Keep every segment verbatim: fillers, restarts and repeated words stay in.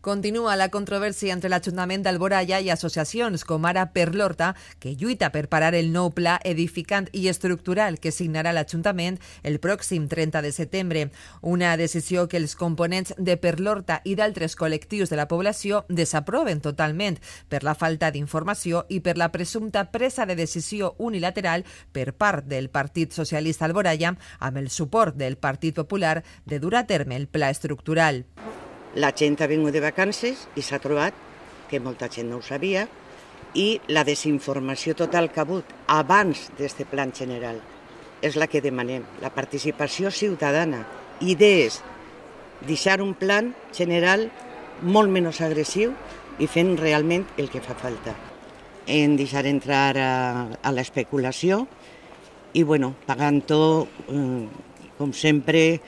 Continua la controvèrsia entre l'Ajuntament d'Alboraya i associacions com ara Per l'Horta, que lluita per parar el nou pla edificant i estructural que signarà l'Ajuntament el pròxim trenta de setembre. Una decisió que els components de Per l'Horta i d'altres col·lectius de la població desaproven totalment per la falta d'informació i per la presumpta presa de decisió unilateral per part del Partit Socialista Alboraya amb el suport del Partit Popular de dur a terme el pla estructural. La gent ha vingut de vacances i s'ha trobat que molta gent no ho sabia i la desinformació total que ha hagut abans d'aquest plan general és la que demanem, la participació ciutadana, idees, deixar un plan general molt menys agressiu i fent realment el que fa falta. En deixar entrar a, a l'especulació i bueno, pagant tot, eh, com sempre,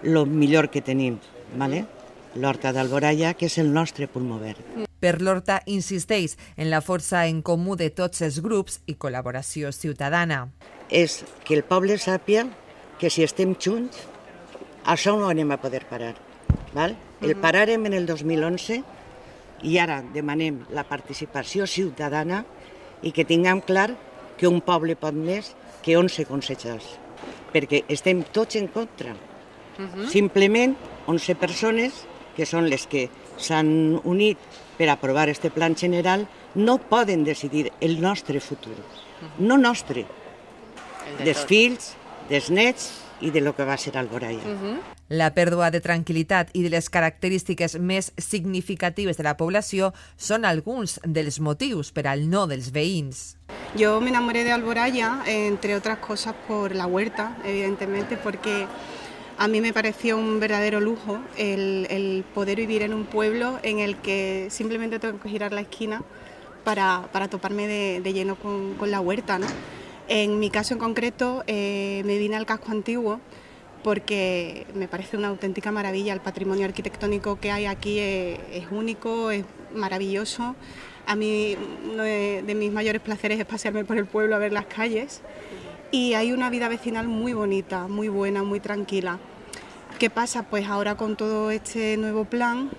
el millor que tenim, ¿vale? L'Horta d'Alboraya, que és el nostre pulmó verd. Per l'Horta insisteix en la força en comú de tots els grups i col·laboració ciutadana. És que el poble sàpiga que si estem junts, això no ho anem a poder parar. Val? El paràrem en el dos mil onze i ara demanem la participació ciutadana i que tinguem clar que un poble pot més que onze consellers, perquè estem tots en contra. Simplement onze persones que són les que s'han unit per aprovar aquest plan general, no poden decidir el nostre futur, no nostre, dels fills, dels nets i de lo que va ser Alboraya. La pèrdua de tranquil·litat i de les característiques més significatives de la població són alguns dels motius per al no dels veïns. Yo me enamoré de Alboraya, entre otras cosas por la huerta, evidentemente, porque a mí me pareció un verdadero lujo el, el poder vivir en un pueblo en el que simplemente tengo que girar la esquina para, para toparme de, de lleno con, con la huerta, ¿no? En mi caso en concreto eh, me vine al casco antiguo porque me parece una auténtica maravilla. El patrimonio arquitectónico que hay aquí es, es único, es maravilloso. A mí uno de, de mis mayores placeres es pasearme por el pueblo a ver las calles y hay una vida vecinal muy bonita, muy buena, muy tranquila. ¿Qué pasa? Pues ahora con todo este nuevo plan,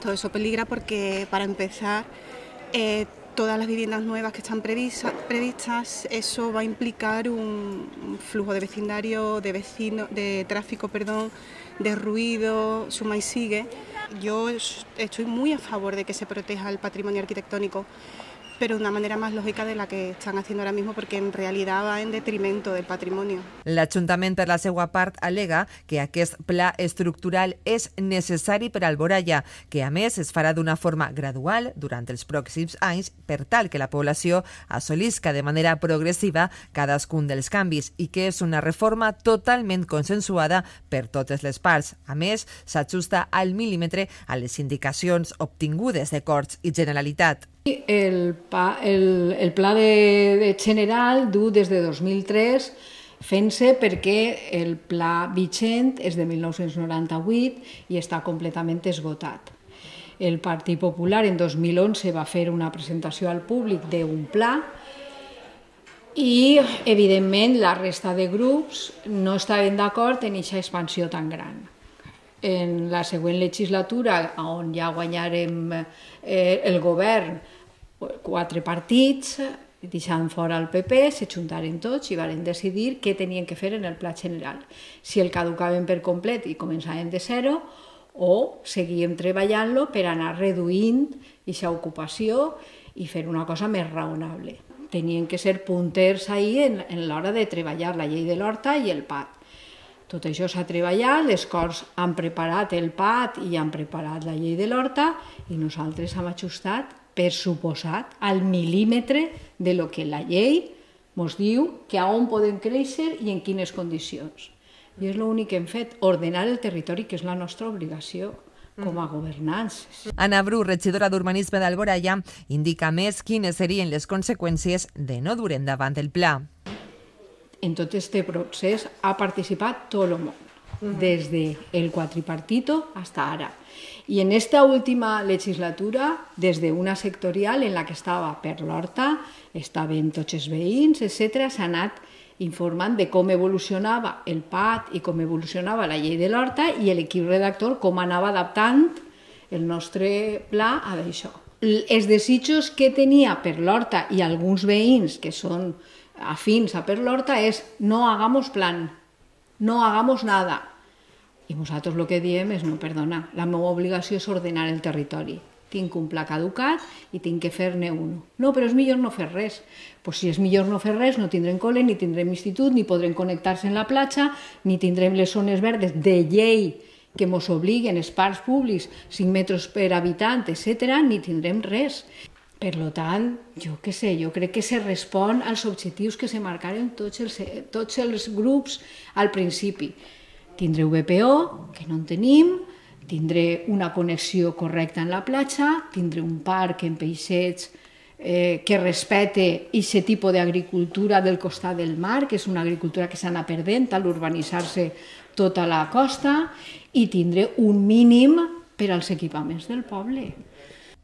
todo eso peligra porque para empezar eh, todas las viviendas nuevas que están previstas, previstas, eso va a implicar un, un flujo de vecindario, de vecino, de tráfico, perdón, de ruido, suma y sigue. Yo estoy muy a favor de que se proteja el patrimonio arquitectónico, pero de una manera más lògica de la que estan haciendo ahora mismo, perquè en realitat va en detrimento del patrimoni. L'Ajuntament, per la seva part, al·lega que aquest pla estructural és necessari per a Alboraya, que a més es farà d'una forma gradual durant els pròxims anys per tal que la població assolisca de manera progressiva cadascun dels canvis i que és una reforma totalment consensuada per totes les parts. A més, s'ajusta al mil·límetre a les indicacions obtingudes de Corts i Generalitat. El, pa, el, el pla de, de general du des de dos mil tres fent-se perquè el pla vigent és de mil nou-cents noranta-vuit i està completament esgotat. El Partit Popular en dos mil onze va fer una presentació al públic d'un pla i, evidentment, la resta de grups no estaven d'acord en aquesta expansió tan gran. En la següent legislatura, on ja guanyarem eh, el govern, quatre partits, deixant fora el P P, se juntaren tots i van decidir què tenien que fer en el pla general. Si el caducaven per complet i començaven de zero o seguíem treballant-lo per anar reduint aquesta ocupació i fer una cosa més raonable. Tenien que ser punters ahí en, en l'hora de treballar la llei de l'Horta i el P A T. Tot això s'ha treballat, les Corts han preparat el P A T i han preparat la llei de l'Horta i nosaltres hem ajustat, per suposat, al mil·límetre de lo que la llei ens diu que a on poden créixer i en quines condicions. I és l'únic que hem fet, ordenar el territori, que és la nostra obligació com a governants. Anna Bru, regidora d'Urbanisme d'Alboraya, indica més quines serien les conseqüències de no dur endavant el pla. En tot aquest procés ha participat tot el món, des del quadripartito fins ara. I en esta última legislatura, des d'una sectorial en la que estava Per l'Horta, estaven tots els veïns, etcètera, s'ha anat informant de com evolucionava el P A T i com evolucionava la llei de l'Horta i l'equip redactor com anava adaptant El nostre pla ha d'això. Els desitjos que tenia per l'Horta i alguns veïns que són afins a per l'Horta és no hagamos plan, no hagamos nada. I nosaltres el que diem és no, perdona, la meva obligació és ordenar el territori. Tinc un pla caducat i tinc que fer-ne un. No, però és millor no fer res. Pues si és millor no fer res, no tindrem col·le, ni tindrem institut, ni podrem connectar-se en la platja, ni tindrem les zones verdes de llei que ens obliguen, els parcs públics, cinc metres per habitant, etcètera, ni tindrem res. Per tant, jo què sé, jo crec que se respon als objectius que se marcaren tots els, tots els grups al principi. Tindré V P O, que no en tenim, tindré una connexió correcta en la platja, tindré un parc en peixets eh, que respecte aquest tipus d'agricultura del costat del mar, que és una agricultura que s'ha anat perdent a l'urbanitzar-se tota la costa, i tindré un mínim per als equipaments del poble.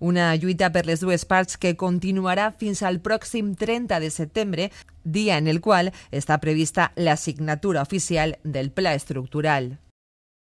Una lluita per les dues parts que continuarà fins al pròxim trenta de setembre, dia en el qual està prevista la signatura oficial del pla estructural.